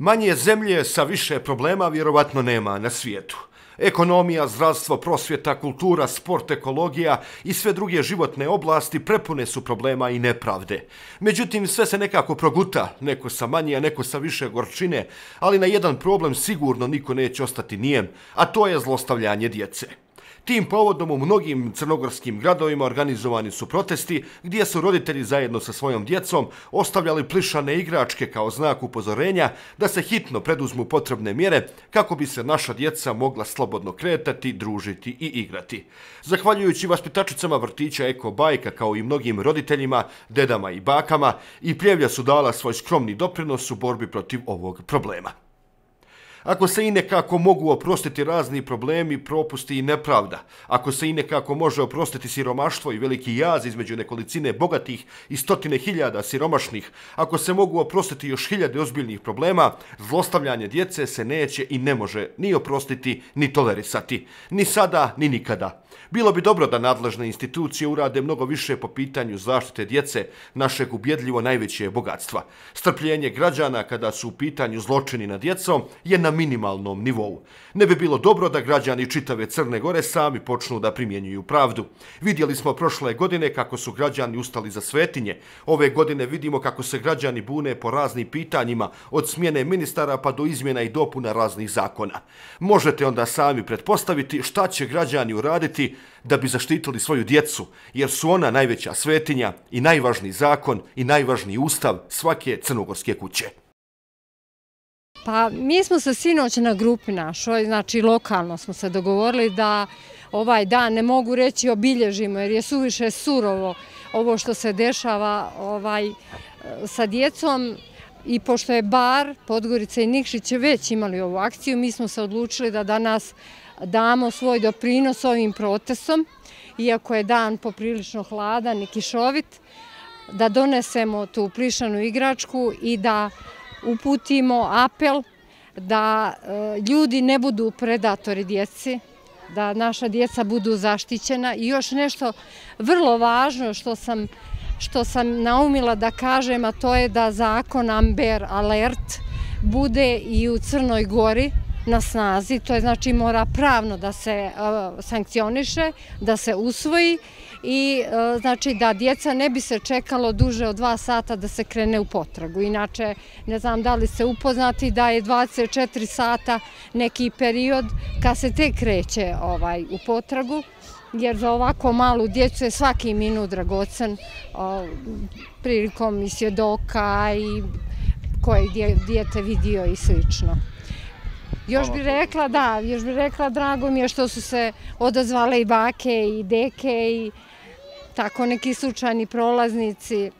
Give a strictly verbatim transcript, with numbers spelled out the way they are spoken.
Manje zemlje sa više problema vjerovatno nema na svijetu. Ekonomija, zdravstvo, prosvjeta, kultura, sport, ekologija i sve druge životne oblasti prepune su problema i nepravde. Međutim, sve se nekako proguta, neko sa manje, a neko sa više gorčine, ali na jedan problem sigurno niko neće ostati nijem, a to je zlostavljanje djece. Tim povodom u mnogim crnogorskim gradovima organizovani su protesti gdje su roditelji zajedno sa svojom djecom ostavljali plišane igračke kao znak upozorenja da se hitno preduzmu potrebne mjere kako bi se naša djeca mogla slobodno kretati, družiti i igrati. Zahvaljujući vaspitačicama vrtića Eko Bajka kao i mnogim roditeljima, dedama i bakama, i Pljevlja su dala svoj skromni doprinos u borbi protiv ovog problema. Ako se i nekako mogu oprostiti razni problemi, propusti i nepravda, ako se i nekako može oprostiti siromaštvo i veliki jaz između nekolicine bogatih i stotine hiljada siromašnih, ako se mogu oprostiti još hiljade ozbiljnih problema, zlostavljanje djece se neće i ne može ni oprostiti, ni tolerisati. Ni sada, ni nikada. Bilo bi dobro da nadležne institucije urade mnogo više po pitanju zaštite djece, našeg ubjedljivo najveće bogatstva. Strpljenje građana kada su u pitanju zločini nad djecom je na minimalnom nivou. Ne bi bilo dobro da građani čitave Crne Gore sami počnu da primjenjuju pravdu. Vidjeli smo prošle godine kako su građani ustali za svetinje. Ove godine vidimo kako se građani bune po raznim pitanjima, od smjene ministara pa do izmjena i dopuna raznih zakona. Možete onda sami pretpostaviti šta će građani uraditi da bi zaštitili svoju djecu, jer su ona najveća svetinja i najvažniji zakon i najvažniji ustav svake crnogorske kuće. Pa mi smo se sinoć na grupi našoj, znači lokalno smo se dogovorili da ovaj dan, ne mogu reći obilježimo jer je suviše surovo ovo što se dešava ovaj, sa djecom, i pošto je Bar, Podgorica i Nikšić već imali ovu akciju, mi smo se odlučili da danas damo svoj doprinos ovim protestom, iako je dan poprilično hladan i kišovit, da donesemo tu plišanu igračku i da uputimo apel da ljudi ne budu predatori djeci, da naša djeca budu zaštićena. I još nešto vrlo važno što sam, što sam naumila da kažem, a to je da zakon Amber Alert bude i u Crnoj Gori na snazi, to je znači mora pravno da se uh, sankcioniše, da se usvoji i uh, znači da djeca ne bi se čekalo duže od dva sata da se krene u potragu. Inače, ne znam da li ste upoznati da je dvadeset četiri sata neki period kad se tek kreće ovaj, u potragu, jer za ovako malu djecu je svaki minut dragocen uh, prilikom i svjedoka i koje dijete vidio i slično. Još bih rekla, da, još bih rekla, drago mi je što su se odazvale i bake i deke i tako neki slučajni prolaznici.